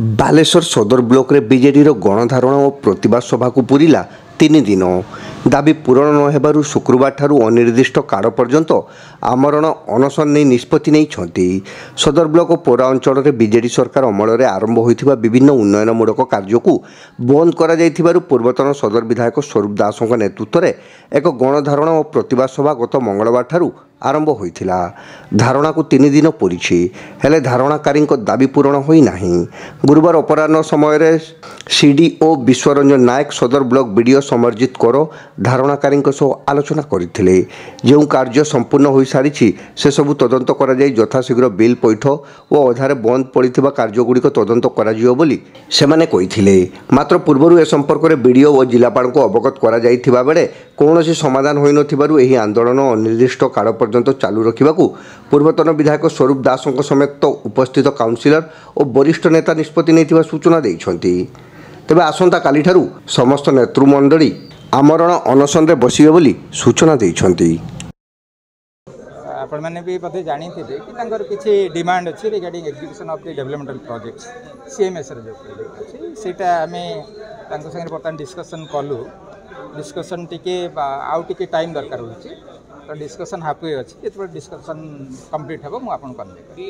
ବାଲେଶ୍ୱର ସଦର ବ୍ଲକରେ ବିଜେଡିର ଗଣଧାରଣା ଓ ପ୍ରତିବାଦ ସଭାକୁ ପୂରିଲା 3 ଦିନ। ଦାବି ପୂରଣ ନ ହେବାରୁ ଶୁକ୍ରବାରଠାରୁ ଅନିର୍ଦ୍ଦିଷ୍ଟ କାଳ ପର୍ଯ୍ୟନ୍ତ ଆମରଣ ଅନଶନ ନେଇ ନିଷ୍ପତ୍ତି ନେଇଛନ୍ତି। ସଦର ବ୍ଲକ ଓ ପୌର ଅଞ୍ଚଳରେ ବିଜେଡି ସରକାର ଅମଳରେ ଆରମ୍ଭ ହୋଇଥିବା ବିଭିନ୍ନ ଉନ୍ନୟନମୂଳକ କାର୍ଯ୍ୟକୁ ବନ୍ଦ କରାଯାଇଥିବାରୁ ପୂର୍ବତନ ସଦର ବିଧାୟକ ସ୍ୱରୂପ ଦାସଙ୍କ ନେତୃତ୍ୱରେ ଏକ ଗଣଧାରଣା ଓ ପ୍ରତିବାଦ ସଭା ଗତ ମଙ୍ଗଳବାରଠାରୁ ଆରମ୍ଭ ହୋଇଥିଲା। ଧାରଣାକୁ 3 ଦିନ ପୂରିଛି, ହେଲେ ଧାରଣାକାରୀଙ୍କ ଦାବି ପୂରଣ ହୋଇନାହିଁ। ଗୁରୁବାର ଅପରାହ୍ନ ସମୟରେ ସିଡିଓ ବିଶ୍ୱରଞ୍ଜନ ନାୟକ, ସଦର ବ୍ଲକ ବିଡିଓ ସମରଜିତ କର ଧାରଣାକାରୀଙ୍କ ସହ ଆଲୋଚନା କରିଥିଲେ। ଯେଉଁ କାର୍ଯ୍ୟ ସମ୍ପୂର୍ଣ୍ଣ ହୋଇସାରିଛି ସେସବୁ ତଦନ୍ତ କରାଯାଇ ଯଥାଶୀଘ୍ର ବିଲ୍ ପଇଠ ଓ ଅଧାରେ ବନ୍ଦ ପଡ଼ିଥିବା କାର୍ଯ୍ୟଗୁଡ଼ିକ ତଦନ୍ତ କରାଯିବ ବୋଲି ସେମାନେ କହିଥିଲେ। ମାତ୍ର ପୂର୍ବରୁ ଏ ସମ୍ପର୍କରେ ବିଡିଓ ଓ ଜିଲ୍ଲାପାଳଙ୍କୁ ଅବଗତ କରାଯାଇଥିବା ବେଳେ କୌଣସି ସମାଧାନ ହୋଇନଥିବାରୁ ଏହି ଆନ୍ଦୋଳନ ଅନିର୍ଦ୍ଦିଷ୍ଟ କାଳ ପର୍ଯ୍ୟନ୍ତ ଚାଲୁ ରଖିବାକୁ ପୂର୍ବତନ ବିଧାୟକ ସ୍ୱରୂପ ଦାସଙ୍କ ସମେତ ଉପସ୍ଥିତ କାଉନସିଲର ଓ ବରିଷ୍ଠ ନେତା ନିଷ୍ପତ୍ତି ନେଇଥିବା ସୂଚନା ଦେଇଛନ୍ତି। ତେବେ ଆସନ୍ତାକାଲିଠାରୁ ସମସ୍ତ ନେତୃମଣ୍ଡଳୀ ଆମରଣ ଅନଶନରେ ବସିବେ ବୋଲି ସୂଚନା ଦେଇଛନ୍ତି। ଆପଣମାନେ ବି ବୋଧେ ଜାଣିଥିବେ କି ତାଙ୍କର କିଛି ଡିମାଣ୍ଡ ଅଛି regarding execution of the developmental projects, ସିଏମ୍ଏସ୍ର ଯେଉଁ ପ୍ରୋଜେକ୍ଟ ଅଛି ସେଇଟା ଆମେ ତାଙ୍କ ସାଙ୍ଗରେ ବର୍ତ୍ତମାନ ଡିସ୍କସନ୍ କଲୁ। ଡିସ୍କସନ୍ ଟିକେ ଆଉ ଟିକେ ଟାଇମ୍ ଦରକାର ହେଉଛି, ତ ଡିସ୍କସନ୍ ହାଫ୍ we ଅଛି। ଯେତେବେଳେ ଡିସ୍କସନ୍ କମ୍ପ୍ଲିଟ୍ ହେବ ମୁଁ ଆପଣଙ୍କୁ କନଭେ କରିବି।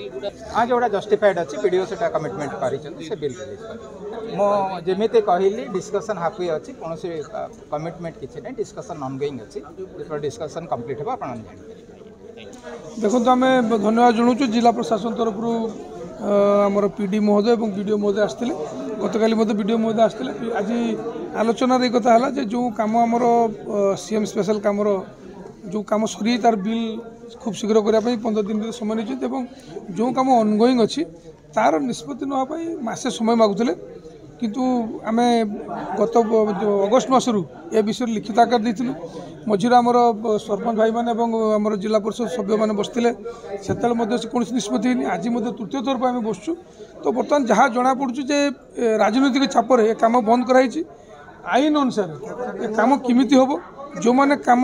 ହଁ, ଯେଉଁଟା ଜଷ୍ଟିଫାଏଡ଼୍ ଅଛି, ବି ଡ଼ି ଓ ସେଇଟା କମିଟମେଣ୍ଟ କରିଛନ୍ତି, ସେ ବିଲ୍ ରିଲିଜ୍ କରିବେ। ମୁଁ ଯେମିତି କହିଲି, ଡିସ୍କସନ୍ ହାଫ୍ we ଅଛି, କୌଣସି କମିଟମେଣ୍ଟ କିଛି ନାହିଁ, ଡିସ୍କସନ୍ ଅନଗୋଇଂ ଅଛି। ଯେତେବେଳେ ଡିସ୍କସନ୍ କମ୍ପ୍ଲିଟ୍ ହେବ ଆପଣମାନେ ଜାଣିପାରିବେ। ଦେଖନ୍ତୁ, ଆମେ ଧନ୍ୟବାଦ ଜଣାଉଛୁ ଜିଲ୍ଲା ପ୍ରଶାସନ ତରଫରୁ ଆମର ପି ଡି ମହୋଦୟ ଏବଂ ବି ଡ଼ି ଓ ମହୋଦୟ ଆସିଥିଲେ। ଗତକାଲି ମଧ୍ୟ ବି ଡ଼ି ଓ ମହୋଦୟ ଆସିଥିଲେ। ଆଜି ଆଲୋଚନାରେ ଏ କଥା ହେଲା ଯେ ଯେଉଁ କାମ ଆମର ସି ଏମ୍ ସ୍ପେଶାଲ କାମର ଯେଉଁ କାମ ସରି ତାର ବିଲ୍ ଖୁବ୍ ଶୀଘ୍ର କରିବା ପାଇଁ 15 ଦିନ ଭିତରେ ସମୟ ନେଇଛନ୍ତି, ଏବଂ ଯେଉଁ କାମ ଅନଗୋଇଂ ଅଛି ତାର ନିଷ୍ପତ୍ତି ନେବା ପାଇଁ ମାସେ ସମୟ ମାଗୁଥିଲେ। କିନ୍ତୁ ଆମେ ଗତ ଅଗଷ୍ଟ ମାସରୁ ଏ ବିଷୟରେ ଲିଖିତ ଆକାର ଦେଇଥିଲୁ। ମଝିରେ ଆମର ସରପଞ୍ଚ ଭାଇମାନେ ଏବଂ ଆମର ଜିଲ୍ଲା ପରିଷଦ ସଭ୍ୟମାନେ ବସିଥିଲେ, ସେତେବେଳେ ମଧ୍ୟ ସେ କୌଣସି ନିଷ୍ପତ୍ତି ହେଇନି। ଆଜି ମଧ୍ୟ ତୃତୀୟ ଥର ପାଇଁ ଆମେ ବସୁଛୁ। ତ ବର୍ତ୍ତମାନ ଯାହା ଜଣାପଡ଼ୁଛି ଯେ ରାଜନୈତିକ ଚାପରେ ଏ କାମ ବନ୍ଦ କରାହେଇଛି। ଆଇନ ଅନୁସାରେ ଏ କାମ କେମିତି ହେବ, ଯେଉଁମାନେ କାମ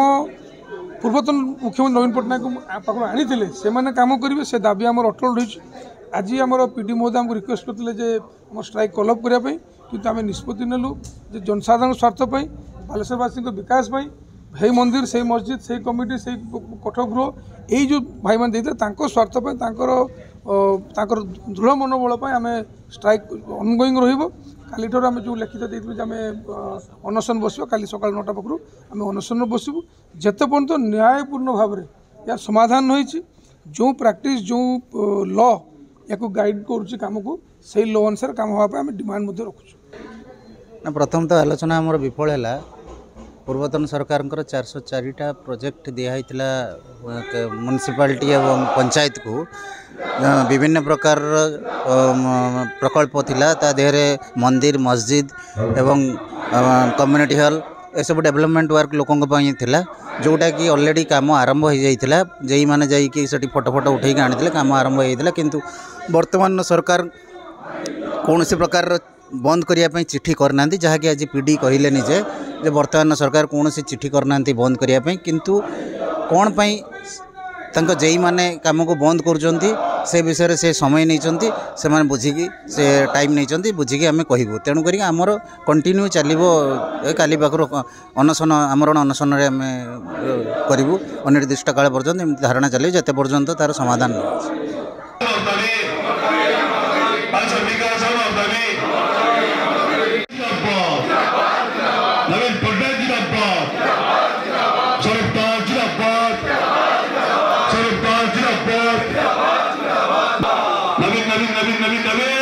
ପୂର୍ବତନ ମୁଖ୍ୟମନ୍ତ୍ରୀ ନବୀନ ପଟ୍ଟନାୟକ ପାଖରୁ ଆଣିଥିଲେ ସେମାନେ କାମ କରିବେ, ସେ ଦାବି ଆମର ଅଟଳ ରହିଛି। ଆଜି ଆମର ପି ଡି ମହୋଦୟ ଆମକୁ ରିକ୍ୱେଷ୍ଟ କରିଥିଲେ ଯେ ଆମ ଷ୍ଟ୍ରାଇକ୍ କଲ୍ ଅଫ୍ କରିବା ପାଇଁ, କିନ୍ତୁ ଆମେ ନିଷ୍ପତ୍ତି ନେଲୁ ଯେ ଜନସାଧାରଣ ସ୍ୱାର୍ଥ ପାଇଁ, ବାଲେଶ୍ୱରବାସୀଙ୍କ ବିକାଶ ପାଇଁ, ସେଇ ମନ୍ଦିର, ସେଇ ମସଜିଦ୍, ସେଇ କମିଟି, ସେଇ କୋଠଗୃହ ଏଇ ଯେଉଁ ଭାଇମାନେ ଦେଇଥିଲେ ତାଙ୍କ ସ୍ୱାର୍ଥ ପାଇଁ, ତାଙ୍କର ଦୃଢ଼ ମନୋବଳ ପାଇଁ ଆମେ ଷ୍ଟ୍ରାଇକ୍ ଅନଗୋଇଂ ରହିବ। କାଲିଠାରୁ ଆମେ ଯେଉଁ ଲିଖିତ ଦେଇଥିଲୁ ଯେ ଆମେ ଅନଶନ ବସିବ, କାଲି ସକାଳ 9ଟା ପାଖରୁ ଆମେ ଅନଶନରେ ବସିବୁ ଯେତେ ପର୍ଯ୍ୟନ୍ତ ନ୍ୟାୟପୂର୍ଣ୍ଣ ଭାବରେ ଏହାର ସମାଧାନ ହୋଇଛି। ଯେଉଁ ପ୍ରାକ୍ଟିସ୍, ଯେଉଁ ଲ ୟାକୁ ଗାଇଡ଼ କରୁଛି କାମକୁ, ସେଇ ଲ ଅନୁସାରେ କାମ ହେବା ପାଇଁ ଆମେ ଡିମାଣ୍ଡ ମଧ୍ୟ ରଖୁଛୁ। ନା, ପ୍ରଥମ ତ ଆଲୋଚନା ଆମର ବିଫଳ ହେଲା। ପୂର୍ବତନ ସରକାରଙ୍କର 404ଟା ପ୍ରୋଜେକ୍ଟ ଦିଆହେଇଥିଲା ମ୍ୟୁନିସିପାଲିଟି ଏବଂ ପଞ୍ଚାୟତକୁ। ବିଭିନ୍ନ ପ୍ରକାରର ପ୍ରକଳ୍ପ ଥିଲା, ତା ଦେହରେ ମନ୍ଦିର, ମସଜିଦ୍ ଏବଂ କମ୍ୟୁନିଟି ହଲ୍, ଏସବୁ ଡେଭଲପମେଣ୍ଟ ୱାର୍କ ଲୋକଙ୍କ ପାଇଁ ଥିଲା, ଯେଉଁଟାକି ଅଲରେଡ଼ି କାମ ଆରମ୍ଭ ହୋଇଯାଇଥିଲା। ଯେଉଁମାନେ ଯାଇକି ସେଠି ଫଟୋ ଫଟୋ ଉଠେଇକି ଆଣିଥିଲେ, କାମ ଆରମ୍ଭ ହୋଇଯାଇଥିଲା। କିନ୍ତୁ ବର୍ତ୍ତମାନ ସରକାର କୌଣସି ପ୍ରକାରର ବନ୍ଦ କରିବା ପାଇଁ ଚିଠି କରିନାହାନ୍ତି, ଯାହାକି ଆଜି ପି ଡ଼ି କହିଲେ ନିଜେ ଯେ ବର୍ତ୍ତମାନ ସରକାର କୌଣସି ଚିଠି କରିନାହାନ୍ତି ବନ୍ଦ କରିବା ପାଇଁ। କିନ୍ତୁ କ'ଣ ପାଇଁ ତାଙ୍କ ଯେଇମାନେ କାମକୁ ବନ୍ଦ କରୁଛନ୍ତି ସେ ବିଷୟରେ ସେ ସମୟ ନେଇଛନ୍ତି, ସେମାନେ ବୁଝିକି ସେ ଟାଇମ୍ ନେଇଛନ୍ତି, ବୁଝିକି ଆମେ କହିବୁ। ତେଣୁକରି ଆମର କଣ୍ଟିନ୍ୟୁ ଚାଲିବ। କାଲି ପାଖରୁ ଅନଶନ, ଆମରଣ ଅନଶନରେ ଆମେ କରିବୁ ଅନିର୍ଦ୍ଦିଷ୍ଟ କାଳ ପର୍ଯ୍ୟନ୍ତ। ଏମିତି ଧାରଣା ଚାଲିବ ଯେତେ ପର୍ଯ୍ୟନ୍ତ ତା'ର ସମାଧାନ ନ ଅଛି। ନବୀନ ନବୀନ ନବୀନ ନବୀନ।